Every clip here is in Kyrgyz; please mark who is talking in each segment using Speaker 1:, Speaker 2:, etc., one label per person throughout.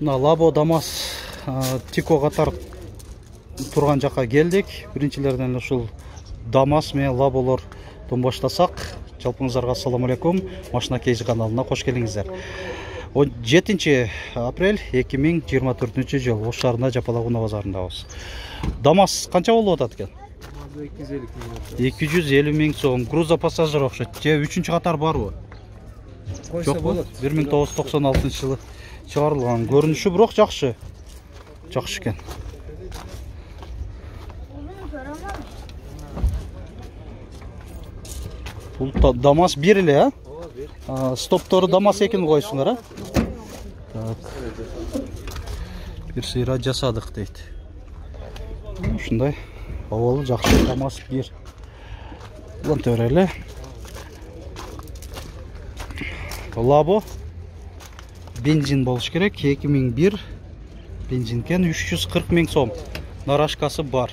Speaker 1: Мына Лабо ДАМАЗ Тико катар турган жакка келдик. Биринчилерден ушул ДАМАЗ менен Лаболордон баштасак. Жалпыңыздарга ассаламу алейкум. Машина Кейзи каналына кош келиңиздер. 17 апрель 2024 жыл Ош шаарында Жапалагуна базарындабыз. ДАМАЗ канча болуп атат экен? 250 миң сом. Грузопассажир окшойт. Же 3-чү катар барбы? Жокпу? 1996 жылы чыгарылган. Көрүнүшү бирок жакшы. Жакшы экен. Бул ДАМАЗ 1 эле, а? Стоптору ДАМАЗ 2-ни койсуңар, а? Так. Бир сыйра жасадык дейт. Ушундай. Абалы жакшы ДАМАЗ 1. Уланта берели. Лабо бензин болуш керек. 2001 бензин кен 340 миң сом. Нарашкасы бар.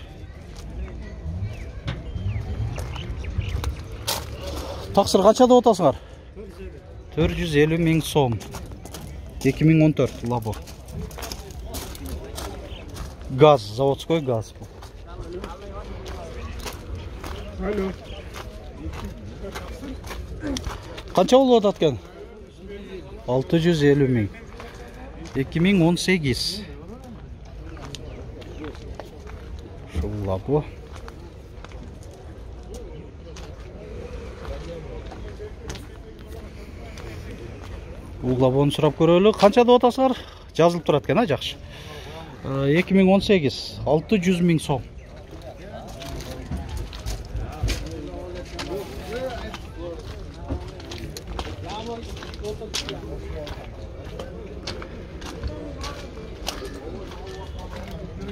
Speaker 1: Таксыр канча деп атасыңар? 450 миң сом. 2014 Лабо. Газ, заводской газ.
Speaker 2: Алло.
Speaker 1: Канча болуп атат экен? 650 миң. 2018. Шул Лабо. Бул Лабону сурап көрөлү. Канча деп атасыңар? Жазылып турат экен, а, жакшы. 2018 600 миң сом.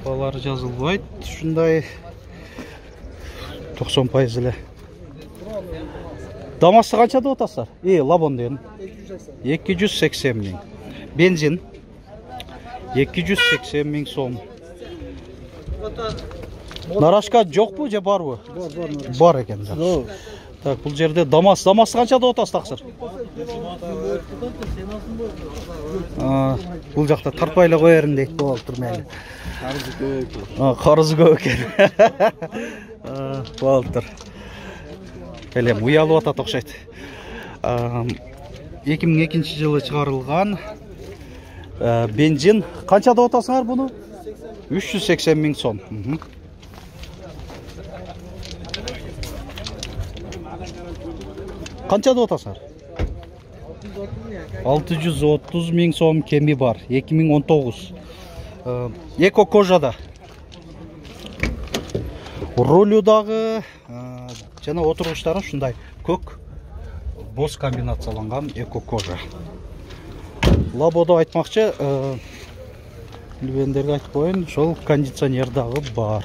Speaker 1: Балары жазылбайт. Ушундай 90% эле. ДАМАЗды канча деп атасыздар? Лабон деген. 280 миң. Бензин 280 миң сом. Нарашка жокпу же барбы? Бар экен. Так, бул жерде ДАМАЗ канча деп атасыз таксыр? Бул жакта тарпай эле коерин дейт болуптур мели. Карызы көп экен. Болуптур. Элем уялып атат окшойт. 2002 жылы чыгарылган бензин канча деп атасыңар буну? 380 миң сом. Канча деп атасыңар? 630 миң сом кеми бар. 2019. Эко кожада. Рулю дагы жана отургучтары ушундай көк боз комбинацияланган эко кожа. Лабодо айтмакчы, билбегендерге айтып коеюн, ошол кондиционер дагы бар.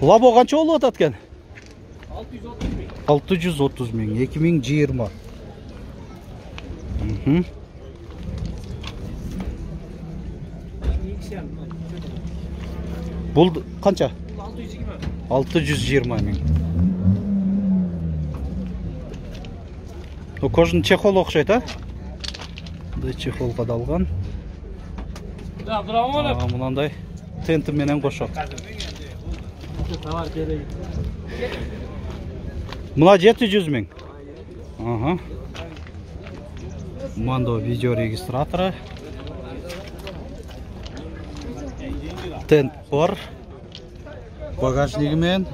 Speaker 1: Лабо канча болуп атат экен? 630 миң. 2020. Бул канча? 620 миң. Кожун чехол окшойт, а? Мындай чехол кадалган. Мынандай тенти менен кошо. Мына 700 миң. Мандо видео регистратору. Тент бар. Багажниги менен.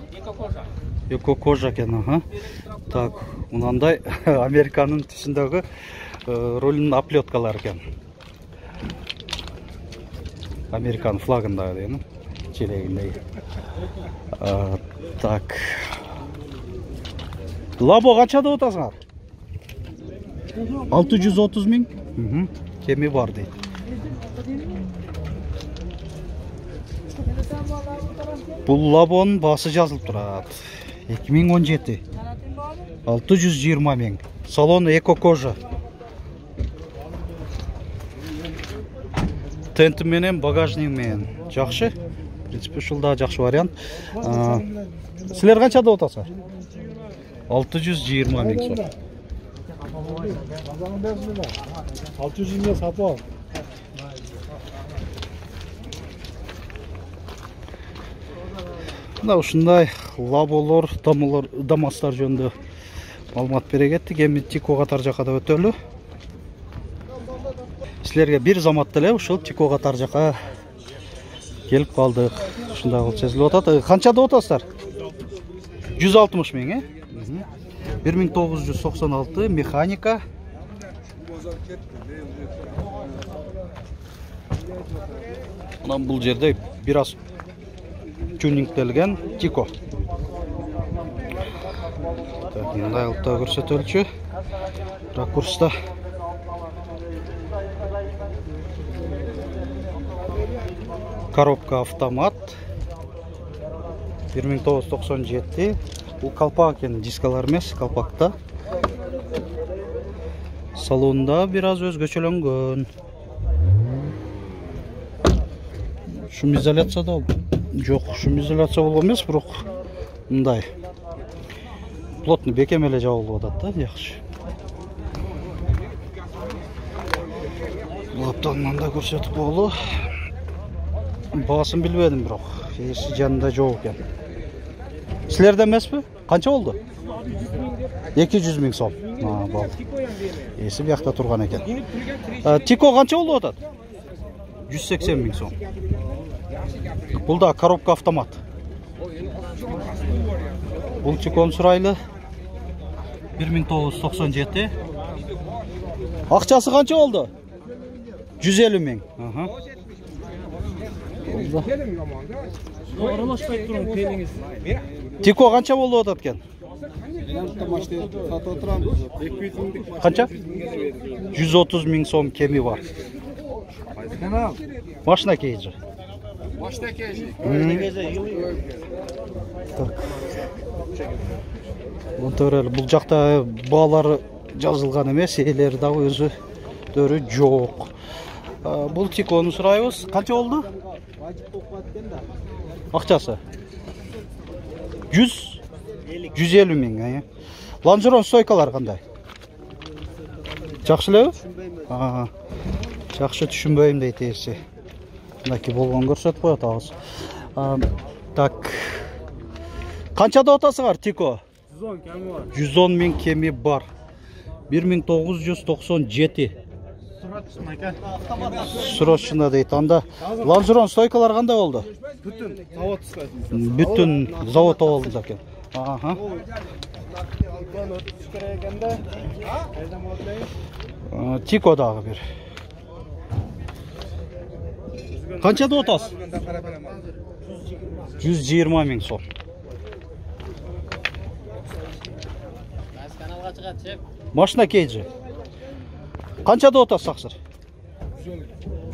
Speaker 1: Эко кожа экен, Так, мынандай Американын түсүндөгү рулунун оплеткалары экен. Американ флагындагы дейм, челегиндеги. Так. Лабо канча деп атасыңар? 630 миң. Кеми бар дейт. Бул Лабонун баасы жазылып турат. 2017. 620 миң. Салон эко кожа. Тенти менен, багажник менен. Жакшы. В принципе, ушул да жакшы вариант. Силер канча деп атасыңар? 620 миң сом.
Speaker 2: 620 сатып ал.
Speaker 1: Мына ушундай лаболор, дамастар жөнүндө маалымат бере кеттик. Эми Тико катар жака да өтөлү. Силерге бир заматта эле ушул Тико катар жака келип калдык. Ушундай кылып сезилип атат. Канча деп атасыздар? 160 миң, 1996 механика. Анан бул жерде бир аз тюнингделген Тико. Мындай кылып да көрсөтөлчү. Ракурста. Коробка автомат. 1997. Бул калпак экен, дискалар эмес, калпакта. Салонда бир аз өзгөчөлөнгөн. Шум изоляцияда жок, шум изоляция болгон эмес, бирок мындай плотный бекем эле жабылып атат да, жакшы. Бул аптан да көрсөтүп болду. Баасын билбедим, бирок эси жанында жок экен. Силерде эмеспи? Канча болду? 200 миң сом. Болду. Эси биякта турган экен. Тико канча болуп атат? 180 миң сом. Бул да коробка автомат. Бул Тикон сурайлы. 1997. Акчасы канча болду? 150 миң.
Speaker 2: Аралашпай турун пелиңиз.
Speaker 1: Тико канча болуп атат экен? Канча? 130 миң сом кеми бар. Машина кейжи.
Speaker 2: Машина кейжи.
Speaker 1: Бул жакта баалары жазылган эмес, элери дагы өзүдөрү жок. Бул Тикону сурайбыз. Канча болду? Акчасы? 150 миң. Лонжерон стойкалар кандай? Жакшы элеби? Жакшы түшүнбөйм дейт эси. Мындай болгон көрсөтүп коет абыз. Так. Канча деп атасыңар Тико?
Speaker 2: 110 кеми бар.
Speaker 1: 110 миң кеми бар. 1997. Срочно дейт. Анда лонжерон стойкалар кандай болду?
Speaker 2: Бүтүн завод стойкасы.
Speaker 1: Бүтүн завод болду экен. Тико дагы бир. Канча деп атасыз? 120 миң сом. Машина кейжи. Канча деп атасыз аксыр?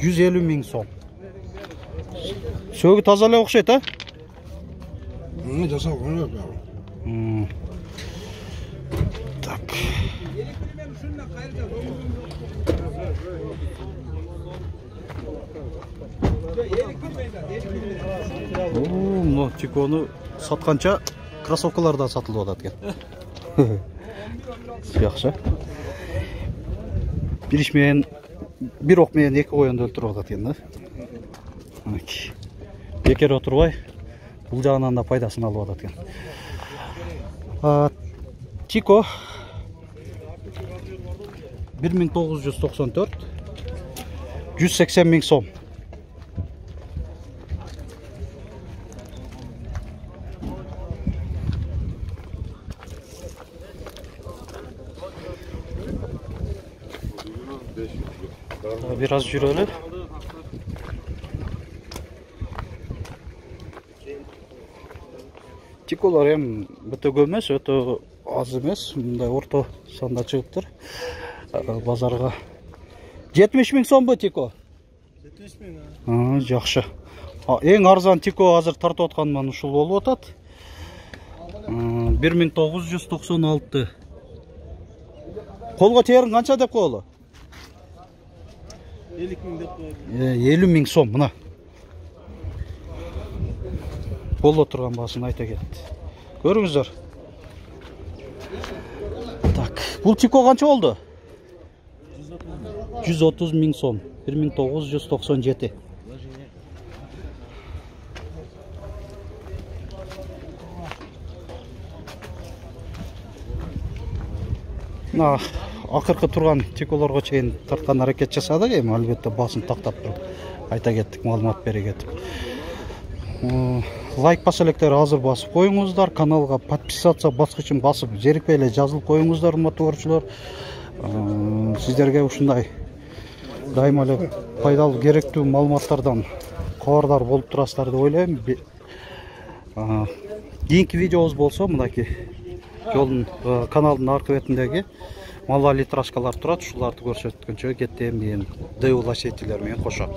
Speaker 1: 150 миң сом. Сөгү таза эле окшойт,
Speaker 3: Жасалган жок.
Speaker 1: Так. Мына Тикону сатканча кроссовкалар да сатылып атат экен. Жакшы. Бир иш менен, бир ок менен эки коюнду өлтүрүп атат экен да. Бекер отурбай, бул жагынан да пайдасын алып атат экен. Тико 1994, 180 миң сом. Бир аз жүрөлү. Тиколор эми өтө көп эмес, өтө аз эмес, мындай орто санда чыгыптыр. Базарга 70 миң сомбу Тико?
Speaker 2: 70 миң.
Speaker 1: Жакшы. Эң арзан Тико азыр тартып аткан мана ушул болуп атат. 1996. Колго теерин канча деп коелу?
Speaker 2: 50 миң деп коет.
Speaker 1: 50 миң сом мына. Боло турган баасын айта кетти. Көрүңүздөр. Так, бул Тико канча болду? 130 миң сом. 1997. мына акыркы турган тиколорго чейин тарткан аракет жасадык, эми албетте басым тактап туруп айта кеттик, маалымат бере кетип. Лайк баса электерди азыр басып коюңуздар, каналга подписаться баскычын басып жерикпей эле жазылып коюңуздар, урматтуу көрүүчүлөр. Сиздерге ушундай дайыма эле пайдалуу, керектүү маалыматтардан кабардар болуп турасыздар деп ойлойм. Кийинки видеобуз болсо мынакей жолдун каналдын аркы бетиндеги малва литрашкалар турат, ушуларды көрсөткөнчө кеттим, мен ДУ лачетилер менен кошо.